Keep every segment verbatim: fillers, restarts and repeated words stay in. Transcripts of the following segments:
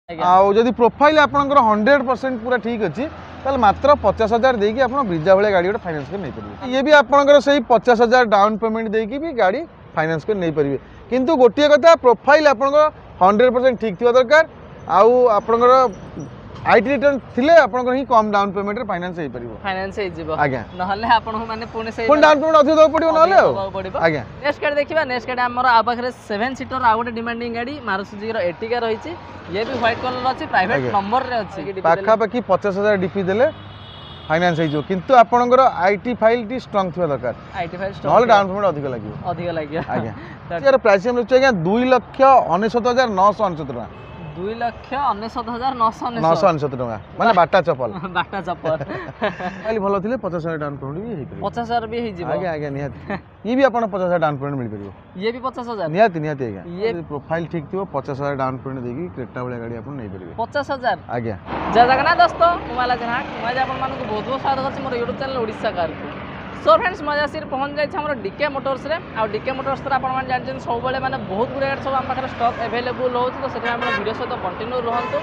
ଆଉ ଯଦି ପ୍ରୋଫାଇଲ୍ ଆପଣଙ୍କର ହଣ୍ଡ୍ରେଡ଼ ପରସେଣ୍ଟ ପୁରା ଠିକ୍ ଅଛି ତାହେଲେ ମାତ୍ର ପଚାଶ ହଜାର ଦେଇକି ଆପଣ ବ୍ରିଜା ଭଳିଆ ଗାଡ଼ି ଗୋଟେ ଫାଇନାନ୍ସ କରି ନେଇପାରିବେ ଇଏ ବି ଆପଣଙ୍କର ସେଇ ପଚାଶ ହଜାର ଡାଉନ୍ ପେମେଣ୍ଟ ଦେଇକି ବି ଗାଡ଼ି ଫାଇନାନ୍ସ କରି ନେଇପାରିବେ କିନ୍ତୁ ଗୋଟିଏ କଥା ପ୍ରୋଫାଇଲ୍ ଆପଣଙ୍କର ହଣ୍ଡ୍ରେଡ଼ ପରସେଣ୍ଟ ଠିକ୍ ଥିବା ଦରକାର ଆଉ ଆପଣଙ୍କର IT return ଥିଲେ ଆପଣଙ୍କର ହିଁ କମ୍ ଡାଉନ୍ ପେମେଣ୍ଟରେ ଫାଇନାନ୍ସ ହେଇପାରିବ ଫାଇନାନ୍ସ ହେଇଯିବ ଆଜ୍ଞା ନହେଲେ ଆପଣଙ୍କୁ ମାନେ ପୁଣି ସେଇ ପୁଣି ଡାଉନ୍ ପେମେଣ୍ଟ ଅଧିକ ଦେବାକୁ ପଡ଼ିବ ନହେଲେ ଆଉ ଦେବାକୁ ପଡ଼ିବ ଆଜ୍ଞା ନେକ୍ସଟ ଗାଡ଼ି ଦେଖିବା ନେକ୍ସଟ ଗାଡ଼ି ଆମର ଆଉ ପାଖରେ ସେଭେନ୍ ସିଟର ଆଉ ଗୋଟେ ଡିମାଣ୍ଡିଂ ଗାଡ଼ି ମାରୁତି ସୁଜୁକିର ଏର୍ଟିଗା ରହିଛି ଇଏ ବି ହ୍ୱାଇଟ୍ କଲର ଅଛି ପ୍ରାଇଭେଟ ଆଜ୍ଞା। ନମ୍ବରରେ ଅଛି ପାଖାପାଖି ପଚାଶ ହଜାର ଡିପି ଦେଲେ ଫାଇନାନ୍ସ ହେଇଯିବ କିନ୍ତୁ ଆପଣଙ୍କର IT ଫାଇଲ୍ଟି ଷ୍ଟ୍ରଙ୍ଗ ଥିବା ଦରକାର IT file ନହେଲେ ଡାଉନ୍ ପେମେଣ୍ଟ ଅଧିକ ଲାଗିବ ଅଧିକ ଲାଗିବ ଆଜ୍ଞା ଏହାର ପ୍ରାଇସ୍ ଆମେ ରଖୁଛୁ ଆଜ୍ଞା ଦୁଇ ଲକ୍ଷ ଅନେଶତ ହଜାର ନଅଶହ ଅନେଶତ ଟଙ୍କା ଦୁଇ ଲକ୍ଷ ଅନେଶତ ହଜାର ନଅଶହ ନଅଶହ ଅନେଶତ ଅନେଶତ ଟଙ୍କା ମାନେ ବାଟା ଚପଲ ବାଟା ଚପଲ ଫାଇଲ୍ ଭଲ ଥିଲେ ପଚାଶ ହଜାର ଡାଉନ୍ ପେମେଣ୍ଟ ବି ହେଇପାରିବ ପଚାଶ ହଜାର ବି ହେଇଯିବ ଆଜ୍ଞା ଆଜ୍ଞା ନିହାତି ଇଏ ବି ଆପଣ ପଚାଶ ହଜାର ଡାଉନ୍ ପେମେଣ୍ଟ ମିଳିପାରିବ ଇଏ ବି ପଚାଶ ହଜାର ନିହାତି ନିହାତି ଆଜ୍ଞା ଇଏ- ଯଦି ପ୍ରୋଫାଇଲ୍ ଠିକ୍ ଥିବ ପଚାଶ ହଜାର ଡାଉନ୍ ପେମେଣ୍ଟ ଦେଇକି କ୍ରେଟା ଭଳିଆ ଗାଡ଼ି ଆପଣ ନେଇପାରିବେ ପଚାଶ ହଜାର ଆଜ୍ଞା ଜୟ ଜଗନ୍ନାଥ ଦୋସ୍ତ ମୁଁ ମାଲା ନାହାକ ମୁଁ ଆଜି ଆପଣମାନଙ୍କୁ ବହୁତ ବହୁତ ସ୍ୱାଗତ କରୁଛି ମୋର ୟୁଟ୍ୟୁବ୍ ଚ୍ୟାନେଲ୍ ଓଡ଼ିଶା କାରକୁ ସୋ ଫ୍ରେଣ୍ଡସ୍ ମୁଁ ଆଜି ଆସିକି ପହଞ୍ଚି ଯାଇଛି ଆମର ଡିକେ ମୋଟର୍ସରେ ଆଉ ଡିକେ ମୋଟର୍ସରେ ଆପଣମାନେ ଜାଣିଛନ୍ତି ସବୁବେଳେ ମାନେ ବହୁତ ଗୁଡ଼ିଏ ଗାଡ଼ି ସବୁ ଆମ ପାଖରେ ଷ୍ଟକ୍ ଆଭେଲେବୁଲ୍ ରହୁଛି ତ ସେଥିପାଇଁ ଆପଣ ଭିଡ଼ିଓ ସହିତ କଣ୍ଟିନ୍ୟୁ ରୁହନ୍ତୁ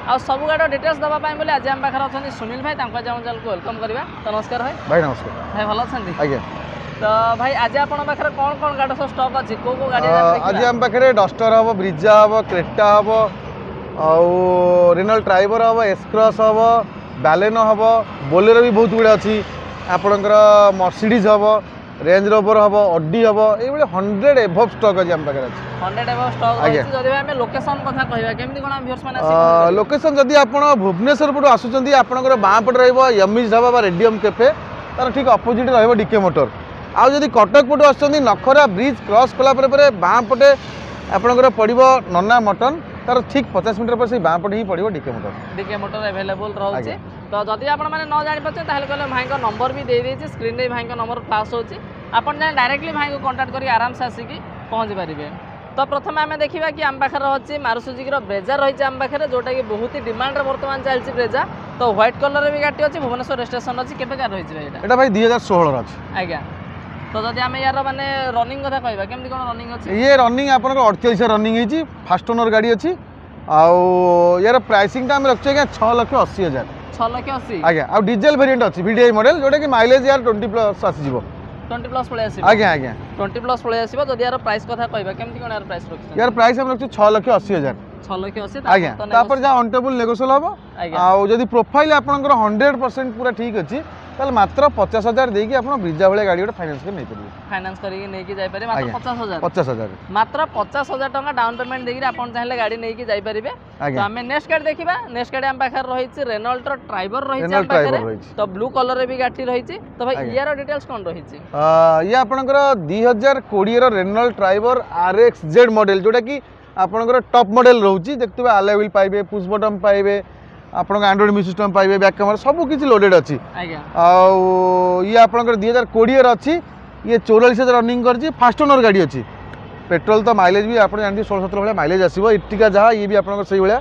ଆଉ ସବୁ ଗାଡ଼ିର ଡିଟେଲ୍ସ ଦେବା ପାଇଁ ବୋଲି ଆଜି ଆମ ପାଖରେ ଅଛନ୍ତି ସୁନୀଲ ଭାଇ ତାଙ୍କୁ ଆଜି ଆମ ଚ୍ୟାନେଲକୁ welcome କରିବା ତ ନମସ୍କାର ଭାଇ ଭାଇ ନମସ୍କାର ଭାଇ ଭଲ ଅଛନ୍ତି ଆଜ୍ଞା ତ ଭାଇ ଆଜି ଆପଣଙ୍କ ପାଖରେ କ'ଣ କ'ଣ ଗାଡ଼ି ସବୁ ଷ୍ଟକ୍ ଅଛି କୋଉ କୋଉ ଗାଡ଼ି ଆଜି ଆମ ପାଖରେ ଡଷ୍ଟର ହେବ ବ୍ରିଜା ହେବ କ୍ରେଟା ହେବ ଆଉ ରେନଲ୍ଟ ଟ୍ରାଇବର ହେବ ଏସ୍କ୍ରସ୍ ହେବ ବାଲେନୋ ହେବ ବୋଲେରୋ ବି ବହୁତ ଗୁଡ଼େ ଅଛି ଆପଣଙ୍କର ମର୍ସିଡ଼ିଜ୍ ହେବ ରେଞ୍ଜ ରୋଭର ହେବ ଅଡି ହେବ ଏଇଭଳି ହଣ୍ଡ୍ରେଡ଼ ଏଭବ୍ ଷ୍ଟକ୍ ଅଛି ଆମ ପାଖରେ ଅଛି ହଣ୍ଡ୍ରେଡ଼ ଏବଭ୍ ଷ୍ଟକ୍ ଆଜ୍ଞା। ରହିଛି ଯଦି ଭାଇ ଆମେ ଲୋକେସନ୍ କଥା କହିବା କେମିତି କ'ଣ ଆମ ଭିଉର୍ସ ମାନେ ଆସିକି ପହଞ୍ଚିପାରିବେ? ଲୋକେସନ୍ ଯଦି ଆପଣ ଭୁବନେଶ୍ୱର ପଟୁ ଆସୁଛନ୍ତି ଆପଣଙ୍କର ବାଁ ପଟେ ରହିବ ୟମିଜ୍ ଢାବା ବା ରେଡ଼ିୟମ୍ କେଫେ ତାର ଠିକ୍ ଅପୋଜିଟ୍ ରହିବ ଡିକେ ମୋଟର ଆଉ ଯଦି କଟକ ପଟୁ ଆସୁଛନ୍ତି ନଖରା ବ୍ରିଜ୍ କ୍ରସ୍ କଲା ପରେ ପରେ ବାଁ ପଟେ ଆପଣଙ୍କର ପଡ଼ିବ ନନା ମଟନ୍ ତାର ଠିକ୍ ପଚାଶ ମିଟର ପରେ ସେଇ ବାଁ ପଟେ ହିଁ ପଡ଼ିବ DK motor DK motor available ରହୁଛି ଆଜ୍ଞା। ତ ଯଦି ଆପଣମାନେ ନ ଜାଣିପାରୁଛନ୍ତି ତାହେଲେ କହିଲେ ଭାଇଙ୍କ ନମ୍ବର ବି ଦେଇଦେଇଛି ସ୍କ୍ରିନ୍ରେ ଭାଇଙ୍କ ନମ୍ବର ଫ୍ଲାସ୍ ହେଉଛି ଆପଣ ଚାହିଁଲେ ଡାଇରେକ୍ଟଲି ଭାଇଙ୍କୁ କଣ୍ଟାକ୍ଟ କରିକି ଆରାମସେ ଆସିକି ପହଞ୍ଚି ପାରିବେ ତ ପ୍ରଥମେ ଆମେ ଦେଖିବା କି ଆମ ପାଖରେ ଅଛି ମାରୁତି ସୁଜୁକିର ବ୍ରେଜା ରହିଛି ଆମ ପାଖରେ ଯେଉଁଟାକି ବହୁତ ହି ଡିମାଣ୍ଡରେ ବର୍ତ୍ତମାନ ଚାଲିଛି ବ୍ରେଜା ତ ହ୍ୱାଇଟ୍ କଲର୍ରେ ବି ଗାଡ଼ି ଅଛି ଭୁବନେଶ୍ୱର ରେଜିଷ୍ଟ୍ରେସନ ଅଛି କେବେକାର ରହିଛି ଭାଇ ଏଇଟା ଏଇଟା ଭାଇ ଦୁଇ ହଜାର ଷୋହଳର ଅଛି ଆଜ୍ଞା ତ ଯଦି ଆମେ ୟାର ମାନେ ରନିଂ କଥା କହିବା କେମିତି କ'ଣ ରନିଂ ଅଛି ଇଏ ରନିଂ ଆପଣଙ୍କର ଅଠଚାଳିଶ ରନିଂ ହେଇଛି ଫାଷ୍ଟ ଓନର୍ ଗାଡ଼ି ଅଛି ଆଉ ୟାର ପ୍ରାଇସିଂଟା ଆମେ ରଖିଛୁ ଆଜ୍ଞା ଛଅ ଲକ୍ଷ ଅଶୀ ହଜାର ଛଅ ଲକ୍ଷ ଅଶୀ ଆଜ୍ଞା ଆଉ ଡିଜେଲ ଭେରିଏଣ୍ଟ ଅଛି ଭିଡ଼ିଆଇ ମଡେଲ ଯେଉଁଟାକି ମାଇଲେଜ ୟାର ଟ୍ୱେଣ୍ଟି ପ୍ଲସ୍ ଆସିଯିବ ଟ୍ୱେଣ୍ଟି ପ୍ଲସ୍ ପଳେଇ ଆସିବ ଆଜ୍ଞା ଆଜ୍ଞା ଟ୍ୱେଣ୍ଟି ପ୍ଲସ୍ ପଳେଇ ଆସିବ ଯଦି ୟାର ପ୍ରାଇସ୍ କଥା କହିବା କେମିତି କ'ଣ ୟାର ପ୍ରାଇସ୍ ରଖିଛନ୍ତି ୟାର ପ୍ରାଇସ୍ ଆମେ ରଖିଛୁ ଛଅ ଲକ୍ଷ ଅଶୀ ହଜାର ଛଅ ଲକ୍ଷ ଅଶୀ ଆଜ୍ଞା ତାପରେ ଯାହା ଅନ୍ ଟେବୁଲ୍ ନେଗୋସିଏବଲ୍ ହେବ ଆଜ୍ଞା ଆଉ ଯଦି ପ୍ରୋଫାଇଲ୍ ଆପଣଙ୍କର ହଣ୍ଡ୍ରେଡ଼ ପରସେଣ୍ଟ ପୁରା ଠିକ୍ ଅଛି ତାହେଲେ ମାତ୍ର ପଚାଶ ହଜାର ଦେଇକି ଆପଣ ବ୍ରିଜା ଭଳିଆ ଗାଡ଼ି ଗୋଟେ ଫାଇନାନ୍ସ କରି ନେଇପାରିବେ ଫାଇନାନ୍ସ କରିକି ନେଇକି ଯାଇପାରିବେ ମାତ୍ର ଆଜ୍ଞା। ପଚାଶ ହଜାର ପଚାଶ ହଜାର ମାତ୍ର ପଚାଶ ହଜାର ଟଙ୍କା ଡାଉନ୍ ପେମେଣ୍ଟ ଦେଇକି ଆପଣ ଚାହିଁଲେ ଗାଡ଼ି ନେଇକି ଯାଇପାରିବେ ତ ଆଜ୍ଞା ଆମେ ନେକ୍ସଟ ଗାଡ଼ି ଦେଖିବା ନେକ୍ସଟ ଗାଡ଼ି ଆମ ପାଖରେ ରହିଛି ରେନଲ୍ଟର ଟ୍ରାଇବର ରହିଛି ଆମ ରେନଲ୍ଟ ପାଖରେ ଟ୍ରାଇବର ରହିଛି ତ ବ୍ଲୁ କଲରରେ ବି ଗାଡ଼ି ରହିଛି ତ ଭାଇ ଆଜ୍ଞା। ୟାର ଡିଟେଲ୍ସ କ'ଣ ରହିଛି ଅ, ଇଏ ଆପଣଙ୍କର ଦୁଇ ହଜାର କୋଡ଼ିଏର ରେନଲ୍ଟ ଟ୍ରାଇବର ଆର୍ ଏକ୍ସ ଜେଡ୍ ମଡେଲ ଯେଉଁଟାକି ଆପଣଙ୍କର ଟପ୍ ମଡେଲ ରହୁଛି ଦେଖୁଥିବେ ଆଲୟ ହ୍ୱିଲ୍ ପାଇବେ ପୁସ୍ ବଟନ୍ ପାଇବେ ଆପଣଙ୍କ ଆଣ୍ଡ୍ରଏଡ଼ ମ୍ୟୁଜିକ୍ ସିଷ୍ଟମ୍ ପାଇବେ ବ୍ୟାକ୍ କ୍ୟାମେରା ସବୁ କିଛି ଲୋଡେଡ୍ ଅଛି ଆଜ୍ଞା ଆଉ ଇଏ ଆପଣଙ୍କର ଦୁଇ ହଜାର କୋଡ଼ିଏର ଅଛି ଇଏ ଚଉରାଳିଶ ହଜାର ରନିଂ କରିଛି ଫାଷ୍ଟ ଓନର୍ ଗାଡ଼ି ଅଛି ପେଟ୍ରୋଲ ତ ମାଇଲେଜ ବି ଆପଣ ଜାଣିଥିବେ ଷୋହଳ ସତର ଭଳିଆ ମାଇଲେଜ ଆସିବ ଏର୍ଟିଗା ଯାହା ଇଏ ବି ଆପଣଙ୍କର ସେଇଭଳିଆ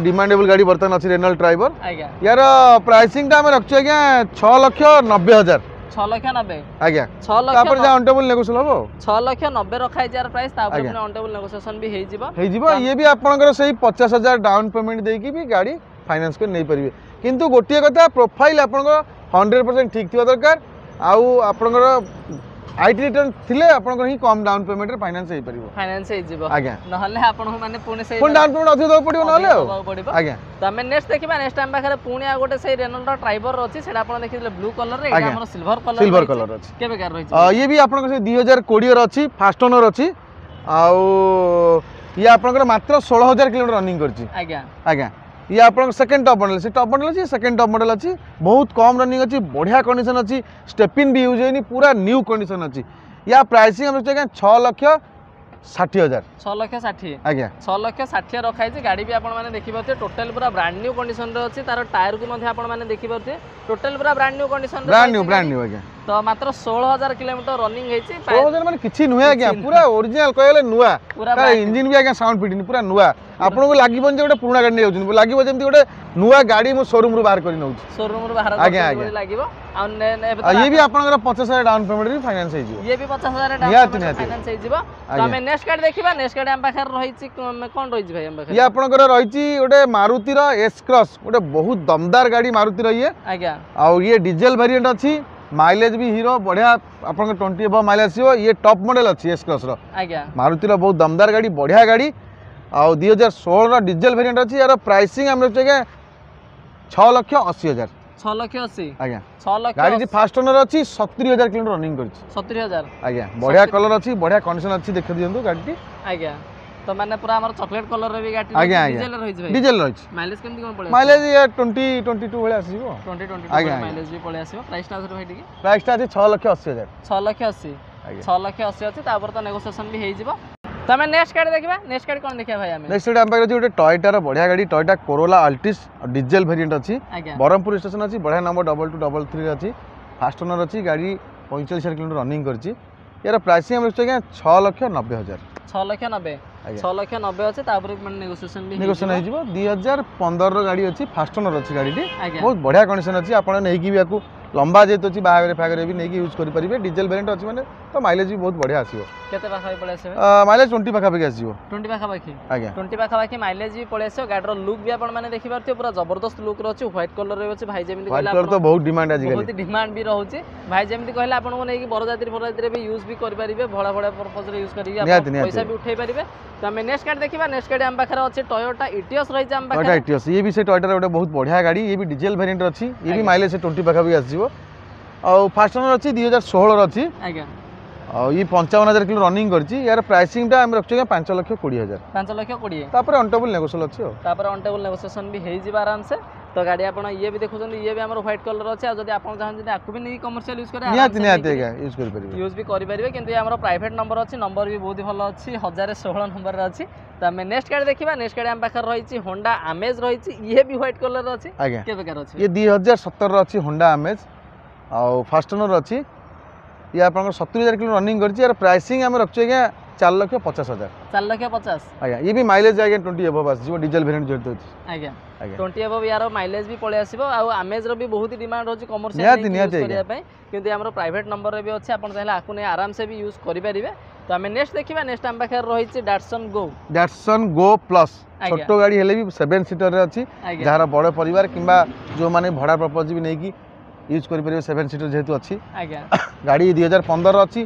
ଡିମାଣ୍ଡେବଲ୍ ଗାଡ଼ି ବର୍ତ୍ତମାନ ଅଛି ରେନଲ୍ଟ ଟ୍ରାଇବର ଆଜ୍ଞା ୟାର ପ୍ରାଇସିଂଟା ଆମେ ରଖିଛୁ ଆଜ୍ଞା ଛଅ ଲକ୍ଷ ନବେ ହଜାର ଛଅ ଲକ୍ଷ ନବେ ଆଜ୍ଞା ଛଅ ଲକ୍ଷ ତାପରେ ଯାହା ଅନ୍ ଟେବୁଲ୍ ନେଗୋସିଏବଲ୍ ହେବ ଆଉ ଛଅ ଲକ୍ଷ ନବେ ରଖା ହେଇଛି ୟାର ପ୍ରାଇସ୍ ତା ଉପରେ ଆଜ୍ଞା। ପୁଣି ଅନ୍ ଟେବୁଲ୍ ନେଗୋସିଏସନ୍ ବି ହେଇଯିବ ହେଇଯିବ ଇଏ ବି ଆପଣଙ୍କର ସେଇ ପଚାଶ ହଜାର ଡାଉନ୍ ପେମେଣ୍ଟ ଦେଇକି ବି ଗାଡ଼ି ଫାଇନାନ୍ସ କରି ନେଇପାରିବେ କିନ୍ତୁ ଗୋଟିଏ କଥା ପ୍ରୋଫାଇଲ୍ ଆପଣଙ୍କର ହଣ୍ଡ୍ରେଡ଼ ପରସେଣ୍ଟ ଠିକ୍ ଥିବା ଦରକାର ଆଉ ଆପଣଙ୍କର IT return ଥିଲେ ଆପଣଙ୍କର ହିଁ କମ୍ ଡାଉନ୍ ପେମେଣ୍ଟରେ ଫାଇନାନ୍ସ ହେଇପାରିବ ଫାଇନାନ୍ସ ହେଇଯିବ ଆଜ୍ଞା ନହେଲେ ଆପଣଙ୍କୁ ମାନେ ପୁଣି ସେଇ ପୁଣି ଡାଉନ୍ ପେମେଣ୍ଟ ଅଧିକ ଦେବାକୁ ପଡ଼ିବ ନହେଲେ ଆଉ ଦେବାକୁ ପଡ଼ିବ ଆଜ୍ଞା ତ ଆମେ ନେକ୍ସଟ ଦେଖିବା ନେକ୍ସଟ ଆମ ପାଖରେ ପୁଣି ଆଉ ଗୋଟେ ସେଇ ରେନଲ୍ଟର ଟ୍ରାଇବର ଅଛି ସେଇଟା ଆପଣ ଦେଖିଥିଲେ ବ୍ଲୁ କଲରରେ ଏଇଟା ଆଜ୍ଞା। ଆମର ସିଲଭର କଲର ସିଲଭର କଲର୍ ଅଛି କେବେକାର ରହିଛି ଅ, ଇଏ ବି ଆପଣଙ୍କର ସେଇ ଦୁଇ ହଜାର କୋଡ଼ିଏର ଅଛି ଫାଷ୍ଟ ଓନର୍ ଅଛି ଆଉ ଇଏ ଆପଣଙ୍କର ମାତ୍ର ଷୋହଳ ହଜାର କିଲୋମିଟର ରନିଂ କରିଛି ଆଜ୍ଞା ଆଜ୍ଞା ଇଏ ଆପଣଙ୍କ ସେକେଣ୍ଡ ଟପ୍ ମଡେଲ ସେ ଟପ୍ ମଡେଲ ଅଛି ସେକେଣ୍ଡ ଟପ୍ ମଡେଲ ଅଛି ବହୁତ କମ୍ ରନିଂ ଅଛି ବଢ଼ିଆ କଣ୍ଡିସନ୍ ଅଛି ଷ୍ଟେପିନ୍ ବି ୟୁଜ୍ ହେଇନି ପୁରା ନ୍ୟୁ କଣ୍ଡିସନ୍ ଅଛି ୟା ପ୍ରାଇସିଂ ଆମେ ରଖିଛୁ ଆଜ୍ଞା ଛଅ ଲକ୍ଷ ଷାଠିଏ ହଜାର ଛଅ ଲକ୍ଷ ଷାଠିଏ ଆଜ୍ଞା ଛଅ ଲକ୍ଷ ଷାଠିଏ ରଖାହେଇଛି ଗାଡ଼ି ବି ଆପଣମାନେ ଦେଖିପାରୁଥିବେ ଟୋଟାଲ ପୁରା ବ୍ରାଣ୍ଡ ନ୍ୟୁ କଣ୍ଡିସନରେ ଅଛି ତାର ଟାୟାରକୁ ମଧ୍ୟ ଆପଣମାନେ ଦେଖିପାରୁଥିବେ ଟୋଟାଲ ପୁରା brand new condition brand new brand new ଆଜ୍ଞା ତ ମାତ୍ର ଷୋହଳ ହଜାର କିଲୋମିଟର ରନିଂ ହେଇଛି ଷୋହଳ ହଜାର ମାନେ କିଛି ନୁହେଁ ଆଜ୍ଞା ପୁରା ଓରିଜିନାଲ କହିଲେ ନୂଆ ପୁରା ତାର ଇଞ୍ଜିନ୍ ବି ଆଜ୍ଞା ସାଉଣ୍ଡ ଫିଟିନି ପୁରା ନୂଆ ଆପଣଙ୍କୁ ଲାଗିବନି ଯେ ଗୋଟେ ପୁରୁଣା ଗାଡ଼ି ନେଇଯାଉଛନ୍ତି ଲାଗିବ ଯେମିତି ଗୋଟେ ନୂଆ ଗାଡ଼ି ମୁଁ ସୋରୁମରୁ ବାହାର କରି ନେଉଛି ସୋରୁମରୁ ବାହାର ଆଜ୍ଞା, କରୁଛନ୍ତି ଆଜ୍ଞା। ଭଳି ଲାଗିବ ଆଉ ନେ- ନେ- ଏବେ ତ ଆଉ ଇଏ ବି ଆପଣଙ୍କର ପଚାଶ ହଜାର ଡାଉନ୍ ପେମେଣ୍ଟ ବି ଫାଇନାନ୍ସ ହେଇଯିବ ଇଏ ବି ପଚାଶ ହଜାର ନିହାତି, ନିହାତି। ଫାଇନାନ୍ସ ହେଇଯିବ ତ ଆଜ୍ଞା। ଆମେ ନେକ୍ସଟ ଗାଡ଼ି ଦେଖିବା ନେକ୍ସଟ ଗାଡ଼ି ଆମ ପାଖରେ ରହିଛି କଣ କଣ ରହିଛି ଭାଇ ଆମ ପାଖରେ ଇଏ ଆପଣଙ୍କର ରହିଛି ଗୋଟେ ମାରୁତିର ଏସ୍ କ୍ରସ୍ ଗୋଟେ ବହୁତ ଦମଦାର ଗାଡ଼ି ମାରୁତିର ଇଏ ଆଜ୍ଞା ଆଉ ଇଏ ଡିଜେଲ ଭେରିଏଣ୍ଟ ଅଛି ମାଇଲେଜ ବି ହିରୋ ବଢ଼ିଆ ଆପଣଙ୍କ ଟ୍ୱେଣ୍ଟି ଏବଭ ମାଇଲେଜ ଆସିବ ଇଏ ଟପ୍ ମଡେଲ ଅଛି ଏସ୍ କ୍ରସ୍ର ଆଜ୍ଞା ମାରୁତିର ବହୁତ ଦମଦାର ଗାଡ଼ି ବଢ଼ିଆ ଗାଡ଼ି ଆଉ ଦୁଇ ହଜାର ଷୋହଳର ଡିଜେଲ ଭେରିଏଣ୍ଟ ଅଛି ୟାର ପ୍ରାଇସିଂ ଆମେ ରଖିଛୁ ଆଜ୍ଞା ଛଅ ଲକ୍ଷ ଅଶୀ ହଜାର ଛଅ ଲକ୍ଷ ଅଶୀ ଆଜ୍ଞା ଛଅ ଲକ୍ଷ ଗାଡ଼ିଟି ଫାଷ୍ଟ ଓନର ଅଛି ସତୁରି ହଜାର କିଲୋମିଟର ରନିଂ କରିଛି ସତୁରି ହଜାର ଆଜ୍ଞା ବଢ଼ିଆ କଲର ଅଛି ବଢ଼ିଆ କଣ୍ଡିସନ ଅଛି ଦେଖି ଦିଅନ୍ତୁ ଗାଡ଼ିଟି ଆଜ୍ଞା ତ ମାନେ ପୁରା ଆମର ଚକୋଲେଟ କଲର ବି ଗାଡ଼ି ଆଜ୍ଞା, ଆଜ୍ଞା। ଡିଜେଲ ରହିଛି ଭାଇ ଡିଜେଲ ରହିଛି ମାଇଲେଜ କେମିତି କଣ ପଳେଇ ମାଇଲେଜ ଇଏ ଟ୍ୱେଣ୍ଟି ଟ୍ୱେଣ୍ଟି ଟୁ ଭଳିଆ ଆସିଯିବ ଟ୍ୱେଣ୍ଟି ଟ୍ୱେଣ୍ଟି ଆଜ୍ଞା, ଆଜ୍ଞା। ମାଇଲେଜ ବି ପଳେଇ ଆସିବ ପ୍ରାଇସଟା ଆଉଥରେ ଭାଇ ଟିକେ ପ୍ରାଇସଟା ଅଛି ଛଅ ଲକ୍ଷ ଅଶୀ ହଜାର ଛଅ ଲକ୍ଷ ଅଶୀ ଆଜ୍ଞା ଛଅ ଲକ୍ଷ ଅଶୀ ଅଛି ତାପରେ ତ ନେଗୋସିଏସନ ବି ହେଇଯିବ ତ ଆମେ ନେକ୍ସଟ ଗାଡ଼ି ଦେଖିବା ନେକ୍ସଟ ଗାଡ଼ି କଣ ଦେଖିବା ଭାଇ ଆମେ ନେକ୍ସଟ ଗୋଟେ ଆମ ପାଖରେ ଅଛି ଗୋଟେ ଟୟଟାର ବଢ଼ିଆ ଗାଡ଼ି ଟୟଟା କୋରୋଲା ଆଲ୍ଟିସ୍ ଡିଜେଲ ଭେରିଏଣ୍ଟ ଅଛି ଆଜ୍ଞା ବ୍ରହ୍ମପୁର ଷ୍ଟେସନ ଅଛି ବଢ଼ିଆ number double two double three ଅଛି ଫାଷ୍ଟ ଓନର ଅଛି ଗାଡ଼ି ପଇଁଚାଳିଶ ହଜାର କିଲୋମିଟର ରନିଂ କରିଛି ୟାର ପ୍ରାଇସିଂ ଆମେ ରଖିଛୁ ଆଜ୍ଞା ଛଅ ଲକ୍ଷ ନବେ ହଜାର ଛଅ ଲକ୍ଷ ନବେ ଆଜ୍ଞା ଛଅ ଲକ୍ଷ ନବେ ଅଛି ତାପରେ ମାନେ ନେଗୋସିଏସନ ବି ନେଗୋସିଏସନ ହେଇଯିବ ଦୁଇ ହଜାର ପନ୍ଦରର ଗାଡ଼ି ଅଛି ଫାଷ୍ଟ ଓନର ଅଛି ଗାଡ଼ିଟି ଆଜ୍ଞା ବହୁତ ବଢ଼ିଆ କଣ୍ଡିସନ ଅଛି ଆପଣ ନେଇକି ବି ୟାକୁ ଲମ୍ବା ଯେହେତୁ ଅଛି ବାହାଘର ଫାହାଘରେ ବି ନେଇକି ୟୁଜ୍ କରିପାରିବେ ଡିଜେଲ ଭେରିଏଣ୍ଟ ଅଛି ମାନେ ତ ମାଇଲେଜ ବି ବହୁତ ବଢ଼ିଆ ଆସିବ କେତେ ପାଖାପାଖି ପଳେଇ ଆସିବ ମାଇଲେଜ ଟ୍ୱେଣ୍ଟି ପାଖାପାଖି ଆସିଯିବ ଟ୍ୱେଣ୍ଟି ପାଖାପାଖି ଆଜ୍ଞା ଟ୍ୱେଣ୍ଟି ପାଖାପାଖି ମାଇଲେଜ ବି ପଳେଇ ଆସିବ ଗାଡ଼ିର ଲୁକ୍ ବି ଆପଣ ମାନେ ଦେଖିପାରୁଥିବେ ପୁରା ଜବରଦସ୍ତ ଲୁକ୍ ଅଛି ହ୍ୱାଇଟ୍ କଲର ଅଛି ଭାଇ ଯେମିତି ହ୍ୱାଇଟ୍ କହିଲେ କଲର ତ ବହୁତ ଡିମାଣ୍ଡ ଆଜିକାଲି ବହୁତ ଡିମାଣ୍ଡ ବି ରହୁଛି ଭାଇ ଯେମିତି କହିଲେ ଆପଣଙ୍କୁ ନେଇକି ବରଯାତ୍ରୀ ଫରଯାତ୍ରୀରେ ବି ୟୁଜ୍ ବି କରିପାରିବେ ଭଡ଼ା ଭଡ଼ା ପର୍ପଜରେ ୟୁଜ୍ କରିକି ଆପଣ ନିହାତି, ନିହାତି। ପଇସା ବି ଉଠେଇ ପାରିବେ ତ ଆମେ ନେକ୍ସଟ ଗାଡ଼ି ଦେଖିବା ନେକ୍ସଟ ଗାଡ଼ି ଆମ ପାଖରେ ଅଛି ଟୟୋଟା ଇଟିଅସ୍ ରହିଛି ଆମ ଟୟଟା ପାଖରେ ଇଟିଅସ୍ ଇଏ ବି ସେ ଟୟଟାର ଗୋଟେ ବହୁତ ବଢ଼ିଆ ଗାଡ଼ି ଇଏ ବି ଡିଜେଲ ଭେରିଏଣ୍ଟ ଅଛି ଇଏ ବି ଆଜ୍ଞା। ମାଇଲେଜ ସେ ଟ୍ୱେଣ୍ଟି ପାଖାପାଖି ଆସିଯିବ ଆଉ ଫାଷ୍ଟ ଓନର ଅଛି ଦୁଇ ହଜାର ଷୋହଳର ଅଛି ଆଜ୍ଞା ଆଉ ଇଏ ପଞ୍ଚାବନ ହଜାର କିଲୋ ରନିଂ କରିଛି ୟାର ପ୍ରାଇସିଂଟା ଆମେ ରଖିଛୁ ଆଜ୍ଞା ପାଞ୍ଚ ଲକ୍ଷ କୋଡ଼ିଏ ହଜାର ପାଞ୍ଚ ଲକ୍ଷ କୋଡ଼ିଏ ତାପରେ ଅନ୍ ଟେବୁଲ୍ ନେଗୋସିଏବଲ୍ ଅଛି ଆଉ ତାପରେ ଅନ୍ ଟେବୁଲ୍ ନେଗୋସିଏସନ୍ ବି ହେଇଯିବ ଆରାମସେ ତ ଗାଡ଼ି ଆପଣ ଇଏ ବି ଦେଖୁଛନ୍ତି ଇଏ ବି ଆମର ହ୍ୱାଇଟ୍ କଲର୍ ଅଛି ଆଉ ଯଦି ଆପଣ ଚାହୁଁଛନ୍ତି ଆକୁ ବି ନେଇକି କମର୍ସିଆଲ ୟୁଜ୍ କରିବେ ନିହାତି ନିହାତି ଆଜ୍ଞା ୟୁଜ୍ କରିପାରିବେ ୟୁଜ୍ ବି କରିପାରିବେ କିନ୍ତୁ ଇଏ ଆମର ପ୍ରାଇଭେଟ୍ ନମ୍ବର ଅଛି ନମ୍ବର ବି ବହୁତ ଭଲ ଅଛି ହଜାରେ ଷୋହଳ ନମ୍ବରରେ ଅଛି ତ ଆମେ ନେକ୍ସଟ ଗାଡ଼ି ଦେଖିବା ନେକ୍ସଟ ଗାଡ଼ି ଆମ ପାଖରେ ରହିଛି ହୋଣ୍ଡା ଆମେଜ୍ ରହିଛି ଇଏ ବି ହ୍ୱାଇଟ୍ କଲର୍ ଅଛି ଆଜ୍ଞା କେବେକାର ଅଛି ଇଏ ଦୁଇ ହଜାର ସତରର ଅଛି ହୋଣ୍ଡା ଆମେଜ୍ ଆଉ ଫାଷ୍ଟ ଓନର ଅଛି ଇଏ ଆପଣଙ୍କର ସତୁରି ହଜାର କିଲୋ ରନିଂ କରିଛି ୟାର ପ୍ରାଇସିଂ ଆମେ ରଖିଛୁ ଆଜ୍ଞା ଚାରି ଲକ୍ଷ ପଚାଶ ହଜାର ଚାରି ଲକ୍ଷ ପଚାଶ ଆଜ୍ଞା ଇଏ ବି ମାଇଲେଜ ଆଜ୍ଞା ଟ୍ୱେଣ୍ଟି ଏବଭ୍ ଆସିଯିବ ଡିଜେଲ ଭେରିଏଣ୍ଟ ଯେହେତୁ ଅଛି ଆଜ୍ଞା ଆଜ୍ଞା ଟ୍ୱେଣ୍ଟି ଏବଭ୍ ୟାର ମାଇଲେଜ ବି ପଳେଇ ଆସିବ ଆଉ ଆମେଜ୍ର ବି ବହୁତ ଡିମାଣ୍ଡ ରହୁଛି କମର୍ସିଆଲ ନିହାତି, ୟୁଜ୍ ନିହାତି ଆଜ୍ଞା। କରିବା ପାଇଁ କିନ୍ତୁ ଆମର ପ୍ରାଇଭେଟ୍ ନମ୍ବରରେ ବି ଅଛି ଆପଣ ଚାହିଁଲେ ଆକୁ ନେଇ ଆରାମସେ ବି ୟୁଜ୍ କରିପାରିବେ ତ ଆମେ ନେକ୍ସଟ ଦେଖିବା ନେକ୍ସଟ ଆମ ପାଖରେ ରହିଛି ଡାଟସନ୍ ଗୋ ଡାଟସନ୍ ଗୋ ପ୍ଲସ୍ ଆଜ୍ଞା। ଛୋଟ ଗାଡ଼ି ହେଲେ ବି ସେଭେନ୍ ସିଟରରେ ଅଛି ଆଜ୍ଞା ଯାହାର ବଡ଼ ପରିବାର କିମ୍ବା ଯେଉଁମାନେ ଭଡ଼ା ପର୍ପଜ୍ ବି ନେଇକି ୟୁଜ୍ କରିପାରିବେ ସେଭେନ୍ ସିଟର ଯେହେତୁ ଅଛି ଆଜ୍ଞା ଗାଡ଼ି ଦୁଇ ହଜାର ପନ୍ଦର ଅଛି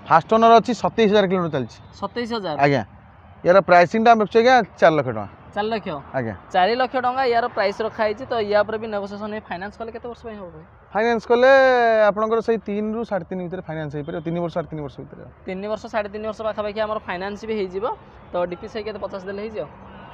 ଫାଷ୍ଟ ଓନର ଅଛି ସତେଇଶ ହଜାର କିଲୋମିଟର ଚାଲିଛି ସତେଇଶ ହଜାର ଆଜ୍ଞା ୟାର ପ୍ରାଇସିଂଟା ଆମେ ରଖିଛୁ ଆଜ୍ଞା ଚାରି ଲକ୍ଷ ଟଙ୍କା ଚାରି ଲକ୍ଷ ଆଜ୍ଞା ଚାରି ଲକ୍ଷ ଟଙ୍କା ୟାର ପ୍ରାଇସ୍ ରଖା ହେଇଛି ତ ୟା ଉପରେ ବି ନେଗୋସିଏସନ୍ ଫାଇନାନ୍ସ କଲେ କେତେ ବର୍ଷ ପାଇଁ ହେବ ଭାଇ ଫାଇନାନ୍ସ କଲେ ଆପଣଙ୍କର ସେଇ ତିନିରୁ ସାଢ଼େ ତିନି ଭିତରେ ଫାଇନାନ୍ସ ହେଇପାରିବ ତିନି ବର୍ଷ ସାଢ଼େ ତିନି ବର୍ଷ ଭିତରେ ତିନି ବର୍ଷ ସାଢ଼େ ତିନି ବର୍ଷ ପାଖାପାଖି ଆମର ଫାଇନାନ୍ସ ବି ହେଇଯିବ ତ ଡିପି ସେଇ କେତେ ପଚାଶ ଦେଲେ ହେଇଯିବ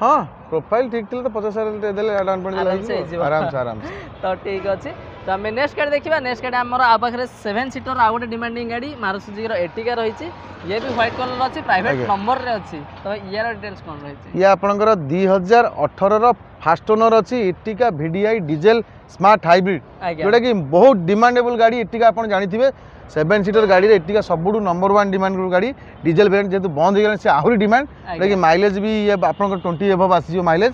ହଁ ପ୍ରୋଫାଇଲ୍ ଠିକ୍ ଥିଲେ ତ ପଚାଶ ହଜାର ଦେଲେ ଡାଉନ୍ ପେମେଣ୍ଟ ଦେଲେ ଆରାମସେ ହେଇଯିବ ହେଇଯିବ। ଆରାମସେ ଆରାମସେ ତ ଠିକ୍ ଅଛି ତ ଆମେ ନେକ୍ସଟ ଗାଡ଼ି ଦେଖିବା ନେକ୍ସଟ ଗାଡ଼ି ଆମର ଆଉ ପାଖରେ ସେଭେନ୍ ସିଟର ଆଉ ଗୋଟେ ଡିମାଣ୍ଡିଂ ଗାଡ଼ି ମାରୁତି ସୁଜୁକିର ଏର୍ଟିଗା ରହିଛି ଇଏ ବି ହ୍ୱାଇଟ୍ କଲର୍ ଅଛି ପ୍ରାଇଭେଟ୍ ଆଜ୍ଞା। ନମ୍ବରରେ ଅଛି ତ ଇୟାର ଡିଟେଲ୍ସ କ'ଣ ରହିଛି ଇଏ ଆପଣଙ୍କର ଦୁଇ ହଜାର ଅଠରର ଫାଷ୍ଟ ଓନର ଅଛି Ertiga VDI diesel smart hybrid ଆଜ୍ଞା ଯେଉଁଟାକି ବହୁତ ଡିମାଣ୍ଡେବଲ୍ ଗାଡ଼ି ଏର୍ଟିଗା ଆପଣ ଜାଣିଥିବେ ସେଭେନ୍ ସିଟର ଗାଡ଼ିରେ ଏର୍ଟିଗା ସବୁଠୁ ନମ୍ବର ୱାନ୍ ଡିମାଣ୍ଡ ଗାଡ଼ି ଡିଜେଲ ଭେରିଏଣ୍ଟ ଯେହେତୁ ବନ୍ଦ ହେଇଗଲାଣି ସେ ଆହୁରି ଡିମାଣ୍ଡ ଯେଉଁଟାକି ମାଇଲେଜ ବି ଇଏ ଆପଣଙ୍କର ଟ୍ୱେଣ୍ଟି ଏବଭ୍ ଆସିଯିବ ମାଇଲେଜ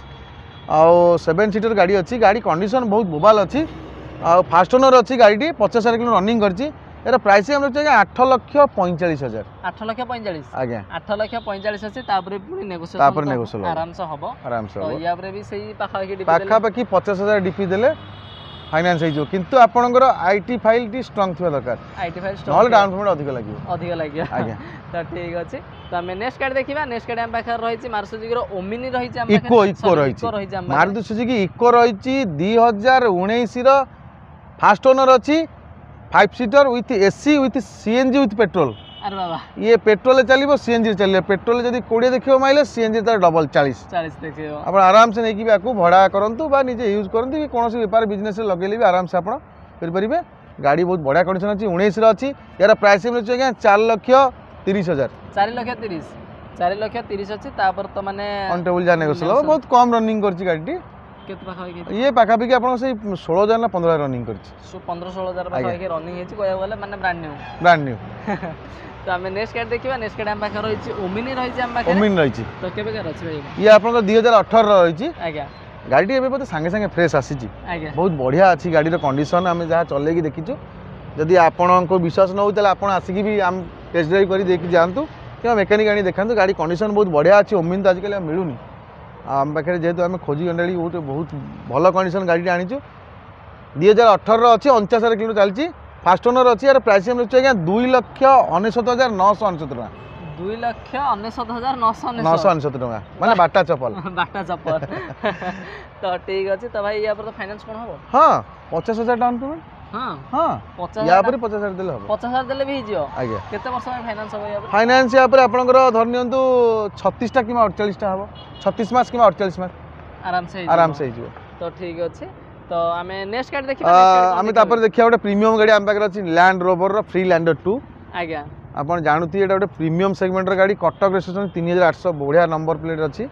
ଆଉ ସେଭେନ୍ ସିଟର ଗାଡ଼ି ଅଛି ଗାଡ଼ି କଣ୍ଡିସନ୍ ବହୁତ ବୋବାଲ ଅଛି ଆଉ ଫାଷ୍ଟ ଓନର ଅଛି ଗାଡ଼ିଟି ପଚାଶ ହଜାର କିଲୋ ରନିଂ କରିଛି ଏର ପ୍ରାଇସ୍ ଆମେ ରଖିଛୁ ଆଜ୍ଞା ଆଠ ଲକ୍ଷ ପଇଁଚାଳିଶ ହଜାର ଆଠ ଲକ୍ଷ ପଇଁଚାଳିଶ ଆଜ୍ଞା ଆଠ ଲକ୍ଷ ପଇଁଚାଳିଶ ଅଛି ତାପରେ ପୁଣି ନେଗୋସିଏସନ୍ ତାପରେ negotiable ହବ। ଆରାମସେ ହବ ଆରାମସେ ତ ହବ ୟା ଉପରେ ବି ସେଇ ପାଖାପାଖି ଡିପି ଦେଲେ ପାଖାପାଖି ପଚାଶ ହଜାର ଡିପି ଦେଲେ ଫାଇନାନ୍ସ ହେଇଯିବ କିନ୍ତୁ ଆପଣଙ୍କର I T ଫାଇଲ୍ଟି ଷ୍ଟ୍ରଙ୍ଗ ଥିବା ଦରକାର IT file ନହେଲେ ଡାଉନ୍ ପେମେଣ୍ଟ ଅଧିକ ଲାଗିବ ଅଧିକ ଲାଗିବ ଆଜ୍ଞା ତ ଠିକ୍ ଅଛି ତ ଆମେ ନେକ୍ସଟ ଗାଡ଼ି ଦେଖିବା ନେକ୍ସଟ ଗାଡ଼ି ଆମ ପାଖରେ ରହିଛି ମାରୁତି ସୁଜୁକିର ଓମିନି ରହିଛି ଆମ ଇକୋ ପାଖରେ ଇକୋ Sorry, ରହିଛି ଇକୋ ରହିଛି ଆମ ପାଖରେ ମାରୁତି ସୁଜୁକି ଇକୋ ରହିଛି ଦୁଇ ହଜାର ଉଣେଇଶର ଫାଷ୍ଟ ଓନର ଅଛି five seater with AC with CNG with petrol ଆରେ ବାବା ଇଏ ପେଟ୍ରୋଲରେ ଚାଲିବ ସିଏନ୍ଜିରେ ଚାଲିବ ପେଟ୍ରୋଲ ଯଦି କୋଡ଼ିଏ ଦେଖିବ ମାଇଲେଜ ସିଏନ୍ଜି ତାର ଡବଲ ଚାଳିଶ ଚାଳିଶ ଦେଖିବ ଆପଣ ଆରାମସେ ନେଇକି ବି ଆକୁ ଭଡ଼ା କରନ୍ତୁ ବା ନିଜେ ୟୁଜ୍ କରନ୍ତୁ କି କୌଣସି ବେପାର ବିଜନେସରେ ଲଗେଇଲେ ବି ଆରାମସେ ଆପଣ କରିପାରିବେ ଗାଡ଼ି ବହୁତ ବଢ଼ିଆ କଣ୍ଡିସନ୍ ଅଛି ଉଣେଇଶର ଅଛି ୟାର ପ୍ରାଇସ୍ ମିଳୁଛି ଆଜ୍ଞା ଚାରି ଲକ୍ଷ ତିରିଶ ହଜାର ଚାରି ଲକ୍ଷ ତିରିଶ ଚାରି ଲକ୍ଷ ତିରିଶ ଅଛି ତାପରେ ତ ମାନେ ଅନ୍ ଟେବୁଲ୍ ଯାହା ନେଗୋସିଏବଲ୍ ହେବ ବହୁତ କମ୍ ରନିଂ କରିଛି ଗାଡ଼ିଟି କେତେ ପାଖାପାଖି ଇଏ ପାଖାପାଖି ଆପଣଙ୍କ ସେଇ ଷୋହଳ ହଜାର ନା ପନ୍ଦର ହଜାର ରନିଂ କରିଛି ପନ୍ଦର ଷୋହଳ ହଜାର ପାଖାପାଖି ରନିଂ ହେଇଛି କହିବାକୁ ଗଲେ ମାନେ ବ୍ରାଣ୍ଡ ନ୍ୟୁ ବ୍ରାଣ୍ଡ ନ୍ୟୁ ତ ଆମେ ନେକ୍ସଟ ଗାଡ଼ି ଦେଖିବା ନେକ୍ସଟ ଗାଡ଼ି ଆମ ପାଖରେ ରହିଛି ଓମିନି ରହିଛି ଆମ ପାଖରେ ଓମିନି ରହିଛି ତ କେବେକାର ଅଛି ଭାଇ ଇଏ ଆପଣଙ୍କର ଦୁଇ ହଜାର ଅଠରର ରହିଛି ଆଜ୍ଞା ଗାଡ଼ିଟି ଏବେ ବୋଧେ ସାଙ୍ଗେ ସାଙ୍ଗେ ଫ୍ରେଶ୍ ଆସିଛି ଆଜ୍ଞା ବହୁତ ବଢ଼ିଆ ଅଛି ଗାଡ଼ିର କଣ୍ଡିସନ୍ ଆମେ ଯାହା ଚଲେଇକି ଦେଖିଛୁ ଯଦି ଆପଣଙ୍କୁ ବିଶ୍ୱାସ ନ ହେଉଛି ତାହେଲେ ଆପଣ ଆସିକି ବି ଆମ ଟେଷ୍ଟ ଡ୍ରାଇଭ୍ କରି ଦେଇକି ଯାଆନ୍ତୁ କିମ୍ବା ମେକାନିକ୍ ଆଣି ଦେଖାନ୍ତୁ ଗାଡ଼ି କଣ୍ଡିସନ୍ ବହୁତ ବଢ଼ିଆ ଅଛି ଓମିନି ତ ଆଜିକାଲି ଆଉ ମିଳୁନି ଆଉ ଆମ ପାଖରେ ଯେହେତୁ ଆମେ ଖୋଜି ଅଣ୍ଡାଳି ଗୋଟେ ବହୁତ ଭଲ କଣ୍ଡିସନ୍ ଗାଡ଼ିଟି ଆଣିଛୁ ଦୁଇ ହଜାର ଅଠରର ଅଛି ଅଣଚାଶ ହଜାର କିଲୋ ଚାଲିଛି ଫାଷ୍ଟ ଓନର୍ ଅଛି ୟାର ପ୍ରାଇସ୍ ଆମେ ରଖିଛୁ ଆଜ୍ଞା ଦୁଇ ଲକ୍ଷ ଅନେଶତ ହଜାର ନଅଶହ ଅନେଶତ ଟଙ୍କା ଦୁଇ ଲକ୍ଷ ଅନେଶତ ହଜାର ନଅଶହ ନଅଶହ ଅନେଶତ ଅନେଶତ ଟଙ୍କା ମାନେ ବାଟା ଚପଲ ବାଟା ଚପଲ ତ ଠିକ ଅଛି ତ ଭାଇ ୟା ପରେ ତ ଫାଇନାନ୍ସ କ'ଣ ହବ ହଁ ପଚାଶ ହଜାର ଡାଉନ୍ ପେମେଣ୍ଟ ହଁ ହଁ ପଚାଶ ୟା ଉପରେ ପଚାଶ ହଜାର ଦେଲେ ହବ ପଚାଶ ହଜାର ଦେଲେ ବି ହେଇଯିବ ଆଜ୍ଞା କେତେ ବର୍ଷ ପାଇଁ ଫାଇନାନ୍ସ ହବ ୟା ଉପରେ ଫାଇନାନ୍ସ ୟା ଉପରେ ଆପଣଙ୍କର ଧରି ନିଅନ୍ତୁ ଛତିଶଟା କିମ୍ବା ଅଡ଼ଚାଳିଶଟା ହେବ ଛତିଶ ମାସ କିମ୍ବା ଅଡ଼ଚାଳିଶ ମାସ ଆରାମସେ ହେଇଯିବ ଆରାମସେ ହେଇଯିବ ତ ଠିକ ଅଛି ତ ଆମେ ନେକ୍ସଟ ଗାଡ଼ି ଦେଖିବା ଆ, next ଗାଡ଼ି କ'ଣ ଆମେ ଦେଖିବା? ତାପରେ ଦେଖିବା ଗୋଟେ ପ୍ରିମିୟମ ଗାଡ଼ି ଆମ ପାଖରେ ଅଛି ଲ୍ୟାଣ୍ଡ ରୋଭରର ଫ୍ରି ଲ୍ୟାଣ୍ଡର ଟୁ ଆଜ୍ଞା ଆପଣ ଜାଣୁଥିବେ ଏଇଟା ଗୋଟେ ପ୍ରିମିୟମ ସେଗମେଣ୍ଟର ଗାଡ଼ି କଟକ ରେଜିଷ୍ଟ୍ରେସନ ତିନି ହଜାର ଆଠଶହ ବଢ଼ିଆ ନମ୍ବର ପ୍ଲେଟ୍ ଅଛି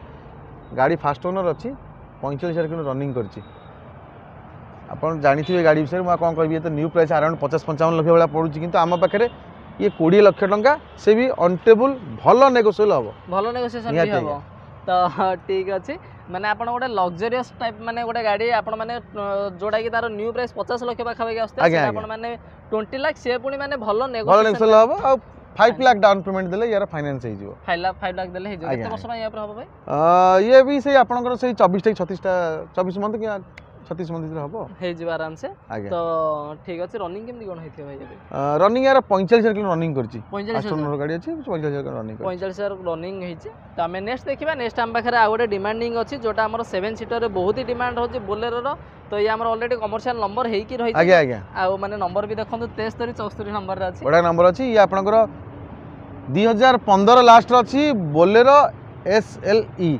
ଗାଡ଼ି ଫାଷ୍ଟ ଓନର୍ ଅଛି ପଇଁଚାଳିଶ ହଜାର କିଲୋ ରନିଂ କରିଛି ଆପଣ ଜାଣିଥିବେ ଗାଡ଼ି ବିଷୟରେ ମୁଁ ଆଉ କ'ଣ କହିବି ଏ ତ ନ୍ୟୁ ପ୍ରାଇସ୍ ଆରାଉଣ୍ଡ ପଚାଶ ପଞ୍ଚାବନ ଲକ୍ଷ ଭଳିଆ ପଡ଼ୁଛି କିନ୍ତୁ ଆମ ପାଖରେ ଇଏ କୋଡ଼ିଏ ଲକ୍ଷ ଟଙ୍କା ସେ ବି ଅନ୍ ଟେବୁଲ୍ ଭଲ ନେଗୋସିଏବଲ୍ ହେବ ଭଲ ନେଗୋସିଏସନ ବି ନିହାତି ହବ ତ ଠିକ ଅଛି ମାନେ ଆପଣ ଗୋଟେ ଲକ୍ଜରିୟସ୍ ଟାଇପ୍ ମାନେ ଗୋଟେ ଗାଡ଼ି ଆପଣ ମାନେ ଯୋଉଟା କି ତାର ନ୍ୟୁ ପ୍ରାଇସ୍ ପଚାଶ ଲକ୍ଷ ପାଖାପାଖି ଆସୁଥିଲା ଆଜ୍ଞା, ସେଇଟା ଆଜ୍ଞା। ଆପଣ ମାନେ ଟ୍ୱେଣ୍ଟି ଲାખ ସିଏ ପୁଣି ମାନେ ଭଲ ଭଲ ନେଗୋସିଏସନ ନେଗୋସିଏବଲ୍ ହେବ ଆଉ ଫାଇଭ୍ ଲାખ ଡାଉନ୍ ପେମେଣ୍ଟ ଦେଲେ ୟାର ଫାଇନାନ୍ସ ହେଇଯିବ ଫାଇଭ୍ ଲାખ ଫାଇଭ୍ ଲାખ ଦେଲେ ହେଇଯିବ ଆଜ୍ଞା, କେତେ ବର୍ଷ ପାଇଁ ୟା ଉପରେ ହବ ଭାଇ ଆ, ଇଏ ବି ସେଇ ଆପଣଙ୍କର ସେଇ ଚବିଶଟା କି ଛତିଶଟା ଚବିଶ ମନ୍ଥ କିମ୍ବା ଛତିଶ ମନ୍ଥ ଭିତରେ ହେବ ହେଇଯିବ ଆରାମସେ ଆଜ୍ଞା ତ ଠିକ ଅଛି ରନିଂ କେମିତି କ'ଣ ହେଇଥିବ ଭାଇ ଏବେ ରନିଂ ୟାର ପଇଁଚାଳିଶ ହଜାର କିଲୋ ରନିଂ କରିଛି ପଇଁଚାଳିଶ ଫାଷ୍ଟ ଓନର ଗାଡ଼ି ଅଛି ପଇଁଚାଳିଶ ହଜାର ରନିଂ କରିଛି ପଇଁଚାଳିଶ ହଜାର ରନିଂ ହେଇଛି ତ ଆମେ ନେକ୍ସଟ ଦେଖିବା ନେକ୍ସଟ ଆମ ପାଖରେ ଆଉ ଗୋଟେ ଡିମାଣ୍ଡିଂ ଅଛି ଯୋଉଟା ଆମର ସେଭେନ୍ ସିଟରରେ ବହୁତ ହି ଡିମାଣ୍ଡ ରହୁଛି ବୋଲେରୋର ତ ଇଏ ଆମର ଅଲରେଡ଼ି କମର୍ସିଆଲ ନମ୍ବର ହେଇକି ରହିଛି ଆଜ୍ଞା ଆଜ୍ଞା ଆଉ ମାନେ ନମ୍ବର ବି ଦେଖନ୍ତୁ ତେସ୍ତରୀ ଚଉସ୍ତରୀ ନମ୍ବରରେ ଅଛି ବଢ଼ିଆ ନମ୍ବର ଅଛି ଇଏ ଆପଣଙ୍କର ଦୁଇ ହଜାର ପନ୍ଦର ଲାଷ୍ଟରେ ଅଛି Bolero S L E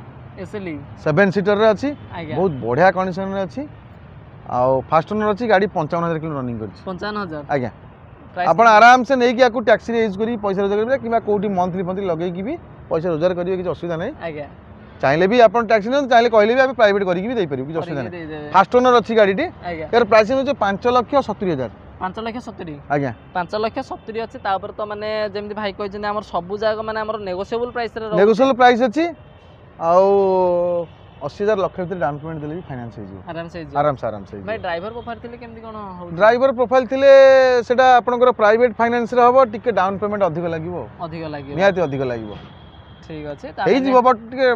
S L E seven ସିଟରରେ ଅଛି ଆଜ୍ଞା ବହୁତ ବଢ଼ିଆ କଣ୍ଡିସନରେ ଅଛି ଆଉ ଫାଷ୍ଟ ଓନର ଅଛି ଗାଡ଼ି ପଞ୍ଚାବନ ହଜାର କିଲୋ ରନିଂ କରିଛି ପଞ୍ଚାବନ ହଜାର ଆଜ୍ଞା Price ଆପଣ ଆରାମସେ ନେଇକି ୟାକୁ ଟ୍ୟାକ୍ସିରେ ୟୁଜ୍ କରିକି ପଇସା ରୋଜଗାର କରିବେ କିମ୍ବା କେଉଁଠି ମନ୍ଥଲି ଫନ୍ଥଲି ଲଗେଇକି ବି ପଇସା ରୋଜଗାର କରିବେ କିଛି ଅସୁବିଧା ନାହିଁ ଆଜ୍ଞା ଚାହିଁଲେ ବି ଆପଣ ଟ୍ୟାକ୍ସି ନିଅନ୍ତୁ ଚାହିଁଲେ କହିଲେ ବି ଆମେ ପ୍ରାଇଭେଟ୍ କରିକି ବି ଦେଇପାରିବୁ କିଛି ଅସୁବିଧା କରିକି ନାହିଁ ଦେଇଦେବେ ଫାଷ୍ଟ ଓନର ଅଛି ଗାଡ଼ିଟି ଆଜ୍ଞା ଏହାର ପ୍ରାଇସ୍ ହେଉଛି ପାଞ୍ଚ ଲକ୍ଷ ସତୁରି ହଜାର ପାଞ୍ଚ ଲକ୍ଷ ସତୁରି ଆଜ୍ଞା ପାଞ୍ଚ ଲକ୍ଷ ସତୁରି ଅଛି ତା ଉପରେ ତ ମାନେ ଯେମିତି ଭାଇ କହିଛନ୍ତି ଆମର ସବୁ ଯାକ ମାନେ ଆମର ନେଗୋସିଏବଲ୍ ପ୍ରାଇସ୍ରେ ରହୁଛି ନେଗୋସିଏବଲ୍ ପ୍ରାଇସ୍ ଅଛି ଆଉ ଅଶୀ ହଜାର ଲକ୍ଷ ଭିତରେ ଡାଉନ୍ ପେମେଣ୍ଟ ଦେଲେ ବି ଫାଇନାନ୍ସ ହେଇଯିବ ଆରାମସେ ହେଇଯିବ ଆରାମସେ ଆରାମସେ ଭାଇ ହେଇଯିବ ଡ୍ରାଇଭର ପ୍ରୋଫାଇଲ୍ ଥିଲେ କେମିତି କ'ଣ ହେଉଛି ଡ୍ରାଇଭର ପ୍ରୋଫାଇଲ୍ ଥିଲେ ସେଟା ଆପଣଙ୍କର ପ୍ରାଇଭେଟ୍ ଫାଇନାନ୍ସରେ ହେବ ଟିକେ ଡାଉନ୍ ପେମେଣ୍ଟ ଅଧିକ ଲାଗିବ ଆଉ। ଅଧିକ ଲାଗିବ ନିହାତି ଅଧିକ ଲାଗିବ ଠିକ ଅଛି ତ ଆମେ ହେଇଯିବ ବଟ୍ ଟିକେ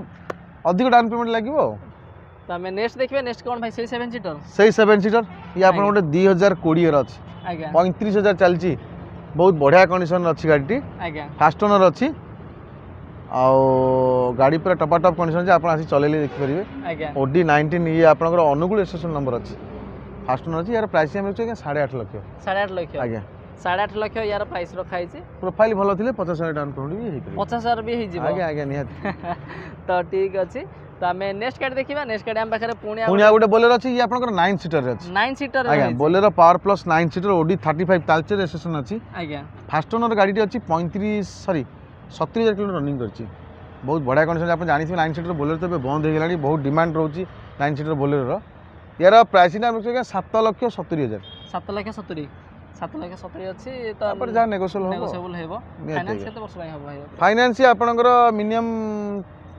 ଅଧିକ ଡାଉନ୍ ପେମେଣ୍ଟ ଲାଗିବ ଆଉ ତ ଆମେ ନେକ୍ସଟ ଦେଖିବା ନେକ୍ସଟ କ'ଣ ଭାଇ ସେଇ ସେଭେନ୍ ସିଟର ସେଇ ସେଭେନ୍ ସିଟର ଇଏ ଆପଣ ଆଜ୍ଞା। ଗୋଟେ ଦୁଇ ହଜାର କୋଡ଼ିଏର ଅଛି ଆଜ୍ଞା ପଇଁତିରିଶ ହଜାର ଚାଲିଛି ବହୁତ ବଢ଼ିଆ କଣ୍ଡିସନରେ ଅଛି ଗାଡ଼ିଟି ଆଜ୍ଞା ଫାଷ୍ଟ ଓନର୍ ଅଛି ଆଉ ଗାଡ଼ି ପୁରା ଟପା ଟପ୍ କଣ୍ଡିସନ୍ ଅଛି ଆପଣ ଆସି ଚଲେଇଲେ ଦେଖିପାରିବେ ଆଜ୍ଞା ଓଡି ନାଇନଟିନ୍ ଇଏ ଆପଣଙ୍କର ଅନୁଗୁଳ ରେଜିଷ୍ଟ୍ରେସନ ନମ୍ବର ଅଛି ଫାଷ୍ଟ ଓନର୍ ଅଛି ୟାର ପ୍ରାଇସ୍ ଆମେ ରଖିଛୁ ଆଜ୍ଞା ସାଢ଼େ ଆଠ ଲକ୍ଷ ସାଢ଼େ ଆଠ ଲକ୍ଷ ଆଜ୍ଞା ସାଢ଼େ ଆଠ ଲକ୍ଷ ୟାର ପ୍ରାଇସ୍ ରଖା ହେଇଛି ପ୍ରୋଫାଇଲ୍ ଭଲ ଥିଲେ ପଚାଶ ହଜାର ଡାଉନ୍ ପେମେଣ୍ଟ ବି ହେଇପାରିବ ପଚାଶ ହଜାର ବି ହେଇଯିବ ଆଜ୍ଞା ଆଜ୍ଞା ନିହାତି ତ ଠିକ ଅଛି ତ ଆମେ ନେକ୍ସଟ ଗାଡ଼ି ଦେଖିବା ନେକ୍ସଟ ଗାଡ଼ି ଆମ ପାଖରେ ପୁଣି ପୁଣି ଆଉ ଗୋଟେ ବୋଲେରୋ ଅଛି ଇଏ ଆପଣଙ୍କର ନାଇନ୍ ସିଟରରେ ଅଛି ନାଇନ୍ ସିଟର ଆଜ୍ଞା Bolero power plus nine seater OD thirty five Talcher registration ଅଛି ଆଜ୍ଞା ଫାଷ୍ଟ ଓନର୍ ଗାଡ଼ିଟି ଅଛି ପଇଁତିରିଶ ସରି ସତୁରି ହଜାର କିଲୋ ରନିଂ କରିଛି ବହୁତ ବଢ଼ିଆ କଣ୍ଡିସନ୍ ଆପଣ ଜାଣିଥିବେ ନାଇନ୍ ସିଟର ବୋଲେରୋ ତ ଏବେ ବନ୍ଦ ହେଇଗଲାଣି ବହୁତ ଡିମାଣ୍ଡ ରହୁଛି ନାଇନ୍ ସିଟର ବୋଲେରୋର ୟାର ପ୍ରାଇସିଂ ଆମେ ଆଜ୍ଞା ସାତ ଲକ୍ଷ ସତୁରି ହଜାର ସାତ ଲକ୍ଷ ସତୁରି ସାତ ଲକ୍ଷ ସତୁରି ଅଛି ତ ତାପରେ ଯାହା ନେଗୋସିଏବଲ୍ ହେବ ନେଗୋସିଏବଲ୍ ହେବ ନିହାତି ଫାଇନାନ୍ସ ଆଜ୍ଞା କେତେ ବର୍ଷ ପାଇଁ ହେବ ଭାଇ ଫାଇନାନ୍ସ ଆପଣଙ୍କର ମିନିମମ୍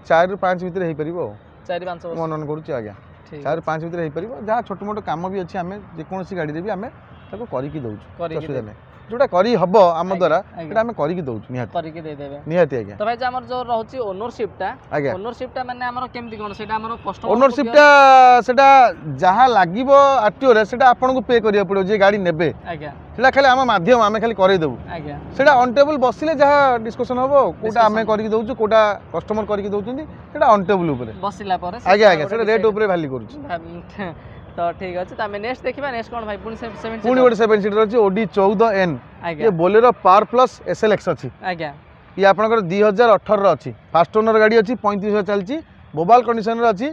ଚାରିରୁ ପାଞ୍ଚ ଭିତରେ ହେଇପାରିବ ଆଉ ଚାରି ପାଞ୍ଚ ବର୍ଷ ମୁଁ ଅନୁମାନ କରୁଛି ଆଜ୍ଞା ଠିକ ଚାରି ପାଞ୍ଚ ଭିତରେ ହେଇପାରିବ ଯାହା ଛୋଟ ମୋଟ କାମ ବି ଅଛି ଆମେ ଯେକୌଣସି ଗାଡ଼ିରେ ବି ଆମେ ତାକୁ କରିକି ଦେଉଛୁ କରିକି ଅସୁବିଧା ନାହିଁ ଯୋଉଟା କରି ହବ ଆମ ଆଜ୍ଞା, ଦ୍ୱାରା ଆଜ୍ଞା। ସେଟା ଆମେ କରିକି ଦେଉଛୁ ନିହାତି କରିକି ଦେଇଦେବେ ନିହାତି ଆଜ୍ଞା ତ ଭାଇ ଯୋଉ ଆମର ଯୋଉ ରହୁଛି ଓନରସିପଟା ଆଜ୍ଞା ଓନରସିପଟା ମାନେ ଆମର କେମିତି କ'ଣ ସେଇଟା ଆମର କଷ୍ଟମର ଓନରସିପଟା ସେଟା ଯାହା ଲାଗିବ ଆରଟିଓରେ ସେଟା ଆପଣଙ୍କୁ ପେ କରିବାକୁ ପଡ଼ିବ ଯିଏ ଗାଡ଼ି ନେବେ ଆଜ୍ଞା ସେଟା ଖାଲି ଆମ ମାଧ୍ୟମ ଆମେ ଖାଲି କରେଇଦେବୁ ଆଜ୍ଞା ସେଟା ଅନ୍ ଟେବୁଲ୍ ବସିଲେ ଯାହା ଡିସ୍କସନ୍ ହବ ଆଉ କୋଉଟା ଆମେ Discussion। କରିକି ଦେଉଛୁ କୋଉଟା କଷ୍ଟମର କରିକି ଦେଉଛନ୍ତି ସେଟା ଅନ୍ ଟେବୁଲ୍ ଉପରେ ବସିଲା ପରେ ଆଜ୍ଞା ଆଜ୍ଞା ସେଟା ରେଟ୍ ଉପରେ ଭ୍ୟାରି କରୁଛି ତ ଠିକ ଅଛି ତ ଆମେ ନେକ୍ସଟ ଦେଖିବା ନେକ୍ସଟ କ'ଣ ଭାଇ ପୁଣି ସେଭେନ୍ ପୁଣି ଗୋଟେ ସେଭେନ୍ ସିଟର ଅଛି ଓଡି ଚଉଦ ଏନ୍ ଆଜ୍ଞା ଇଏ Bolero power plus S L X ଅଛି ଆଜ୍ଞା ଇଏ ଆପଣଙ୍କର ଦୁଇ ହଜାର ଅଠରର ଅଛି ଫାଷ୍ଟ ଓନର ଗାଡ଼ି ଅଛି ପଇଁତିରିଶ ହଜାର ଚାଲିଛି ମୋବାଇଲ କଣ୍ଡିସନରେ ଅଛି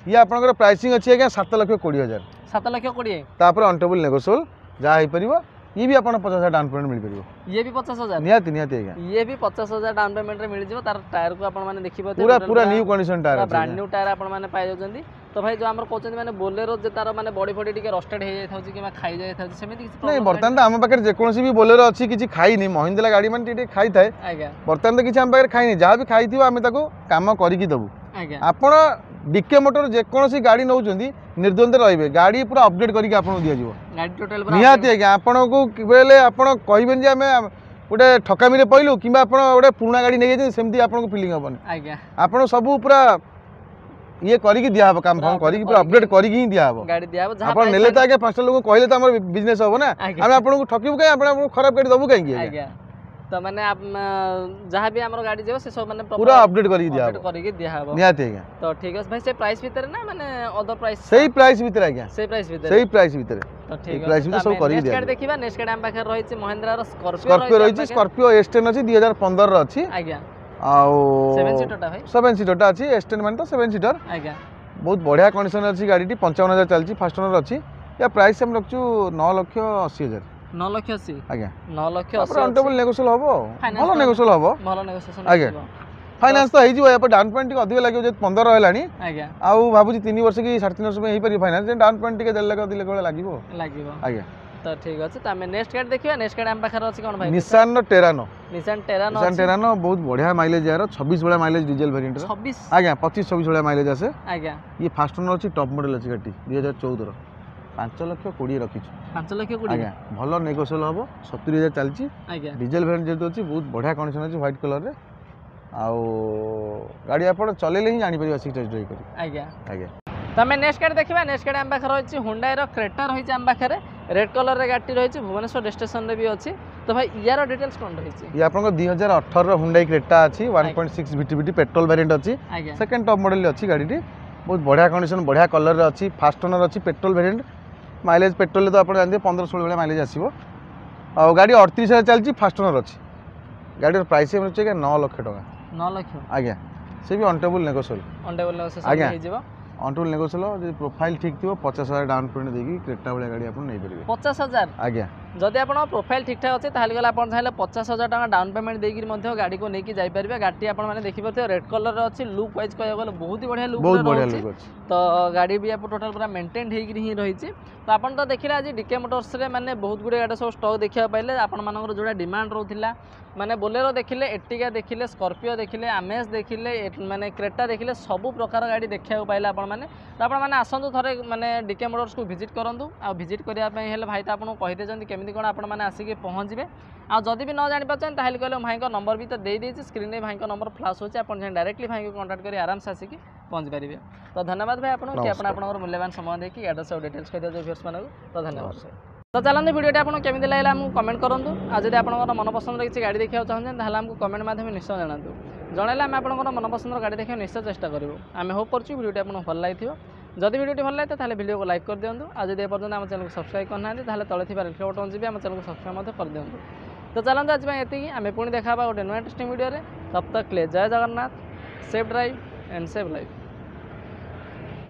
ଇଏ ଆପଣଙ୍କର ପ୍ରାଇସିଂ ଅଛି ଆଜ୍ଞା ସାତ ଲକ୍ଷ କୋଡ଼ିଏ ହଜାର ସାତ ଲକ୍ଷ କୋଡ଼ିଏ ତାପରେ ଅନ୍ ଟେବୁଲ୍ ନେଗୋସିଏବଲ୍ ଯାହା ହେଇପାରିବ ଇଏ ବି ଆପଣ ପଚାଶ ହଜାର ଡାଉନ୍ ପେମେଣ୍ଟ ମିଳିପାରିବ ଇଏ ବି ପଚାଶ ହଜାର ନିହାତି ନିହାତି ଆଜ୍ଞା ଇଏ ବି ପଚାଶ ହଜାର ଡାଉନ୍ ପେମେଣ୍ଟରେ ମିଳିଯିବ ତାର ଟାୟାରକୁ ଆପଣମାନେ ଦେଖିପାରୁଥିବେ ପୁରା ପୁରା ନ୍ୟୁ କଣ୍ଡିସନ ଟାୟାର ଅଛି ବ୍ରାଣ୍ଡ ନ୍ୟୁ ଟାୟାର ଆପଣମାନେ ପାଇଯାଉଛନ୍ତି ତ ଭାଇ ଯୋଉ ଆମର କହୁଛନ୍ତି ମାନେ ବୋଲେରୋ ଯେ ତାର ମାନେ ବଡି ଫଡି ଟିକେ ରଷ୍ଟେଡ୍ ହେଇଯାଇଥାଉଛି କିମ୍ବା ଖାଇ ଯାଇଥାଉଛି ସେମିତି କିଛି ନାଇଁ problem ବର୍ତ୍ତମାନ ତ ଆମ ପାଖରେ ଯେକୌଣସି ବି ବୋଲେରୋ ଅଛି କିଛି ଖାଇନି ମହିନ୍ଦ୍ରା ଗାଡ଼ି ମାନେ ଟିକେ ଟିକେ ଖାଇଥାଏ ଆଜ୍ଞା ବର୍ତ୍ତମାନ ତ କିଛି ଆମ ପାଖରେ ଖାଇନି ଯାହା ବି ଖାଇଥିବ ଆମେ ତାକୁ କାମ କରିକି ଦେବୁ ଆଜ୍ଞା ଆପଣ ଡିକେ ମୋଟର ଯେକୌଣସି ଗାଡ଼ି ନେଉଛନ୍ତି ନିର୍ଦ୍ୱନ୍ଦ୍ୱରେ ରହିବେ ଗାଡ଼ି ପୁରା ଅପଡେଟ୍ କରିକି ଆପଣଙ୍କୁ ଦିଆଯିବ ଗାଡ଼ି ଟୋଟାଲ ପୁରା ନିହାତି ଆଜ୍ଞା ଆପଣଙ୍କୁ ବେଲେ ଆପଣ କହିବେନି ଯେ ଆମେ ଗୋଟେ ଠକାମିରେ ପଇଲୁ କିମ୍ବା ଆପଣ ଗୋଟେ ପୁରୁଣା ଗାଡ଼ି ନେଇଯାଇଛନ୍ତି ସେମିତି ଆପଣଙ୍କୁ ଫିଲିଂ ହେବନି ଆଜ୍ଞା ଆପଣ ସବୁ ପୁରା ଇଏ କରିକି ଦିଆହବ କାମ ଫାମ କରିକି ପୁରା ଅପଡେଟ୍ କରିକି ହିଁ ଦିଆହବ ଗାଡ଼ି ଦିଆହବ ଯାହା ଆପଣ price ନେଲେ ତ ଆଜ୍ଞା ପାଞ୍ଚଟା ଲୋକ କହିଲେ ତ ଆମର ବିଜନେସ୍ ହବ ନା ଆଜ୍ଞା। ଆମେ ଆପଣଙ୍କୁ ଠକିବୁ କାହିଁ ଆପଣ ଆପଣଙ୍କୁ ଖରାପ ଗାଡ଼ି ଦେବୁ କାହିଁକି ଆଜ୍ଞା ଆଜ୍ଞା ତ ମାନେ ଯାହା ବି ଆମର ଗାଡ଼ି ଯିବ ସେ ସବୁ ମାନେ ପୁରା ଅପଡେଟ୍ କରିକି ଦିଆହବ ଅପଡେଟ୍ କରିକି ଦିଆହବ ନିହାତି ଆଜ୍ଞା ତ ଠିକ ଅଛି ଭାଇ ସେ ପ୍ରାଇସ୍ ଭିତରେ ନା ମାନେ ଅଦର ପ୍ରାଇସ୍ ସେଇ ପ୍ରାଇସ୍ ଭିତରେ ଆଜ୍ଞା ସେଇ ପ୍ରାଇସ୍ ଭିତରେ ସେଇ ପ୍ରାଇସ୍ ଭିତରେ ତ ଠିକ price ଅଛି ଭିତରେ ସବୁ କରିକି ନେକ୍ସଟ ଗାଡ଼ି ଦିଆଯିବ। ଦେଖିବା ନେକ୍ସଟ ଗାଡ଼ି ଆମ ପାଖରେ ରହିଛି ମହିନ୍ଦ୍ରାର ସ୍କର୍ପିଓ ସ୍କର୍ପିଓ ରହିଛି ସ୍କର୍ପିଓ ଏସ୍ ଟେନ୍ ଅଛି ଦୁଇ ହଜାର ପନ୍ଦରର ଅଛି ଆଜ୍ଞା ଆଉ ସେଭେନ ସିଟରଟା ଭାଇ ସେଭେନ୍ ସିଟରଟା ଅଛି ଏସ୍ ଟେନ୍ ମାନେ ତ ସେଭେନ୍ ସିଟର ଆଜ୍ଞା ବହୁତ ବଢ଼ିଆ କଣ୍ଡିସନ୍ ଅଛି ଗାଡ଼ିଟି ପଞ୍ଚାବନ ହଜାର ଚାଲିଛି ଫାଷ୍ଟ ଓନର୍ ଅଛି ୟା ପ୍ରାଇସ୍ ଆମେ ରଖିଛୁ ନଅ ଲକ୍ଷ ଅଶୀ ହଜାର ନଅ ଲକ୍ଷ ଅଶୀ ଆଜ୍ଞା ନଅ ଲକ୍ଷ ତାପରେ ଅଶୀ ଅନ୍ ଟେବୁଲ୍ ନେଗୋସିଏବଲ୍ ହବ ଆଉ Finance ଭଲ ତ- ନେଗୋସିଏବଲ୍ ହବ ଭଲ ନେଗୋସିଏସନ ଆଜ୍ଞା। ଫାଇନାନ୍ସ ତ ହେଇଯିବ ୟା ପରେ ଡାଉନ୍ ପେମେଣ୍ଟ ଟିକେ ଅଧିକ ଲାଗିବ ଯେହେତୁ ପନ୍ଦର ହେଲାଣି ଆଜ୍ଞା ଆଉ ଭାବୁଛି ତିନି ବର୍ଷ କି ସାଢ଼େ ତିନି ବର୍ଷ ପାଇଁ ହେଇପାରିବ ଫାଇନାନ୍ସ ଡାଉନ୍ ପେମେଣ୍ଟ ଟିକେ ଦେଢ଼ ଲକ୍ଷ ଦୁଇ ଲକ୍ଷ ଭଳିଆ ଲାଗିବ ଲାଗିବ ଆଜ୍ଞା ତ ଠିକ ଅଛି ତ ଆମେ ନେକ୍ସଟ ଗାଡ଼ି ଦେଖିବା ନେକ୍ସଟ ଗାଡ଼ି ଆମ ପାଖରେ ଅଛି କ'ଣ ଭାଇ ନିଶାନର ଟେରାନୋ ନିଶାନ ଟେରାନୋ ନିଶାନ ଟେରାନୋ ବହୁତ ବଢ଼ିଆ ମାଇଲେଜ ଏହାର ଛବିଶ ଭଳିଆ ମାଇଲେଜ ଡିଜେଲ ଭେରିଏଣ୍ଟର ଛବିଶ ଆଜ୍ଞା ପଚିଶ ଛବିଶ ଭଳିଆ ମାଇଲେଜ ଆସେ ଆଜ୍ଞା ଇଏ ଫାଷ୍ଟ ଓନର୍ ଅଛି ଟପ୍ ମଡେଲ ଅଛି ଗାଡ଼ିଟି ଦୁଇ ହଜାର ଚଉଦର ପାଞ୍ଚ ଲକ୍ଷ କୋଡ଼ିଏ ରଖିଛୁ ପାଞ୍ଚ ଲକ୍ଷ କୋଡ଼ିଏ ଆଜ୍ଞା ଭଲ ନେଗୋସିଏବଲ୍ ହେବ ସତୁରି ହଜାର ଚାଲିଛି ଆଜ୍ଞା ଡିଜେଲ ଭେରିଏଣ୍ଟ ଯେହେତୁ ଅଛି ବହୁତ ବଢ଼ିଆ କଣ୍ଡିସନ୍ ଅଛି ହ୍ୱାଇଟ୍ କଲର୍ରେ ଆଉ ଗାଡ଼ି ଆପଣ ଚଲେଇଲେ ହିଁ ଜାଣିପାରିବେ ଆସିକି ଟେଷ୍ଟ ଡ୍ରାଇଭ୍ କରି ଆଜ୍ଞା ଆଜ୍ଞା ତ ଆମେ ନେକ୍ସଟ ଗାଡ଼ି ଦେଖିବା ନେକ୍ସଟ ଗାଡ଼ି ଆମ ପାଖରେ ରହିଛି ହୁଣ୍ଡାଇର କ୍ରେଟା ରହିଛି ଆମ ପାଖରେ ରେଡ୍ କଲର୍ରେ ଗାଡ଼ିଟି ରହିଛି ଭୁବନେଶ୍ୱର ରେଜିଷ୍ଟ୍ରେସନରେ ବି ଅଛି ତ ଭାଇ ୟାର ଡିଟେଲ୍ସ କ'ଣ ରହିଛି ଇଏ ଆପଣଙ୍କ ଦୁଇ ହଜାର ଅଠରର ହୁଣ୍ଡାଇ କ୍ରେଟା ଅଛି one point six VTVT petrol variant ଅଛି ଆଜ୍ଞା ସେକେଣ୍ଡ ଟପ୍ ମଡେଲ ଅଛି ଗାଡ଼ିଟି ବହୁତ ବଢ଼ିଆ କଣ୍ଡିସନ୍ ବଢ଼ିଆ କଲର୍ରେ ଅଛି ଫାଷ୍ଟ ଓନର୍ ଅଛି ପେଟ୍ରୋଲ ଭେରିଏଣ୍ଟ ମାଇଲେଜ ପେଟ୍ରୋଲରେ ତ ଆପଣ ଜାଣିଥିବେ ପନ୍ଦର ଷୋହଳ ଭଳିଆ ମାଇଲେଜ ଆସିବ ଆଉ ଗାଡ଼ି ଅଠତିରିଶ ହଜାର ଚାଲିଛି ଫାଷ୍ଟ ଓନର୍ ଅଛି ଗାଡ଼ିର ପ୍ରାଇସ୍ ମିଳୁଛି ଆଜ୍ଞା ନଅ ଲକ୍ଷ ଟଙ୍କା ନଅ ଲକ୍ଷ ଆଜ୍ଞା ସେ ବି on table negotiable on table negotiation ଆଜ୍ଞା। ହେଇଯିବ ଅନ୍ ଟେବୁଲ୍ ନେଗୋସିଏବଲ୍ ଯଦି ପ୍ରୋଫାଇଲ୍ ଠିକ୍ ଥିବ ପଚାଶ ହଜାର ଡାଉନ୍ ପେମେଣ୍ଟ ଦେଇକି କ୍ରେଟା ଭଳିଆ ଗାଡ଼ି ଆପଣ ନେଇପାରିବେ ପଚାଶ ହଜାର ଆଜ୍ଞା ଯଦି ଆପଣଙ୍କ ପ୍ରୋଫାଇଲ୍ ଠିକ୍ଠାକ୍ ଅଛି ତାହେଲେ ଗଲେ ଆପଣ ଚାହିଁଲେ ପଚାଶ ହଜାର ଟଙ୍କା ଡାଉନ୍ ପେମେଣ୍ଟ ଦେଇକି ମଧ୍ୟ ଗାଡ଼ିକୁ ନେଇକି ଯାଇପାରିବେ ଗାଡ଼ିଟି ଆପଣମାନେ ଦେଖିପାରୁଥିବେ ରେଡ୍ କଲର୍ର ଅଛି ଲୁକ୍ ୱାଇଜ୍ କହିବାକୁ ଗଲେ ବହୁତ ହି ବଢ଼ିଆ ଲୁକ୍ ବହୁତ ବଢ଼ିଆ ରହୁଛି ଲୁକ୍ ଅଛି ତ ଗାଡ଼ି ବି ଆପଣ ଟୋଟାଲ୍ ପୁରା ମେଣ୍ଟେନ୍ ହେଇକିରି ହିଁ ରହିଛି ତ ଆପଣ ତ ଦେଖିଲେ ଆଜି ଡିକେ ମୋଟର୍ସରେ ମାନେ ବହୁତ ଗୁଡ଼ିଏ ଗାଡ଼ି ସବୁ ଷ୍ଟକ୍ ଦେଖିବାକୁ ପାଇଲେ ଆପଣମାନଙ୍କର ଯେଉଁଟା ଡିମାଣ୍ଡ ରହୁଥିଲା ମାନେ ବୋଲେରୋ ଦେଖିଲେ ଏର୍ଟିଗା ଦେଖିଲେ ସ୍କର୍ପିଓ ଦେଖିଲେ ଆମେଜ୍ ଦେଖିଲେ ଏ- ମାନେ କ୍ରେଟା ଦେଖିଲେ ସବୁ ପ୍ରକାର ଗାଡ଼ି ଦେଖିବାକୁ ପାଇଲେ ଆପଣମାନେ ତ ଆପଣମାନେ ଆସନ୍ତୁ ଥରେ ମାନେ ଡିକେ ମୋଟର୍ସକୁ ଭିଜିଟ୍ କରନ୍ତୁ ଆଉ ଭିଜିଟ୍ କରିବା ପାଇଁ ହେଲେ ଭାଇ ତ ଆପଣଙ୍କୁ କହିଦେଇଛନ୍ତି କେମିତି କ'ଣ ଆପଣମାନେ ଆସିକି ପହଞ୍ଚିବେ ଆଉ ଯଦି ବି ନ ଜାଣିପାରୁଛନ୍ତି ତାହେଲେ କହିଲେ ଭାଇଙ୍କ ନମ୍ବର ବି ତ ଦେଇଦେଇଛି ସ୍କ୍ରିନ୍ରେ ଭାଇଙ୍କ ନମ୍ବର ଫ୍ଲାସ୍ ହେଉଛି ଆପଣ ଚାହିଁ ଡାଇରେକ୍ଟଲି ଭାଇଙ୍କୁ କଣ୍ଟାକ୍ଟ କରି ଆରାମସେ ଆସିକି ପହଞ୍ଚି ପାରିବେ ତ ଧନ୍ୟବାଦ ଭାଇ ଆପଣଙ୍କୁ କି ଆପଣ ନମସ୍କାର। ଆପଣଙ୍କର ମୂଲ୍ୟବାନ ସମୟ ଦେଇକି ଆଡ୍ରେସ୍ ଆଉ ଡିଟେଲ୍ସ କହିଦେଉଛୁ ଭିଉର୍ସମାନଙ୍କୁ ତ ଧନ୍ୟବାଦ ନମସ୍କାର। ତ ଚାଲନ୍ତୁ ଭିଡ଼ିଓଟି ଆପଣଙ୍କୁ କେମିତି ଲାଗିଲା ଆମକୁ କମେଣ୍ଟ କରନ୍ତୁ ଆଉ ଯଦି ଆପଣଙ୍କର ମନପସନ୍ଦର କିଛି ଗାଡ଼ି ଦେଖିବାକୁ ଚାହୁଁଛନ୍ତି ତାହେଲେ ଆମକୁ କମେଣ୍ଟ ମାଧ୍ୟମରେ ନିଶ୍ଚୟ ଜଣାନ୍ତୁ ଜଣାଇଲେ ଆମେ ଆପଣଙ୍କର ମନପସନ୍ଦର ଗାଡ଼ି ଦେଖିବାକୁ ନିଶ୍ଚୟ ଚେଷ୍ଟା କରିବୁ ଆମେ ହୋପ୍ କରୁଛୁ ଭିଡ଼ିଓଟି ଆପଣଙ୍କୁ ଭଲ ଲାଗିଥିବ ଯଦି ଭିଡ଼ିଓଟି ଭଲ ଲାଗେ ତାହେଲେ ଭିଡ଼ିଓକୁ ଲାଇକ୍ କରିଦିଅନ୍ତୁ ଆଉ ଯଦି ଏପର୍ଯ୍ୟନ୍ତ ଆମ ଚ୍ୟାନେଲକୁ ସବସ୍କ୍ରାଇବ୍ କରିନାହାନ୍ତି ତାହେଲେ ତଳେ ଥିବା ରେଡ୍ ବଟନ୍ ଯିବେ ଆମ ଚ୍ୟାନେଲକୁ ସବସ୍କ୍ରାଇବ୍ ମଧ୍ୟ କରିଦିଅନ୍ତୁ ତ ଚାଲନ୍ତୁ ଆଜି ପାଇଁ ଏତିକି ଆମେ ପୁଣି ଦେଖା ହେବା ଗୋଟେ ନୂଆ ଇଣ୍ଟରେଷ୍ଟିଂ ଭିଡ଼ିଓରେ तब तक के लिए ଜୟ Jagannath safe drive and save life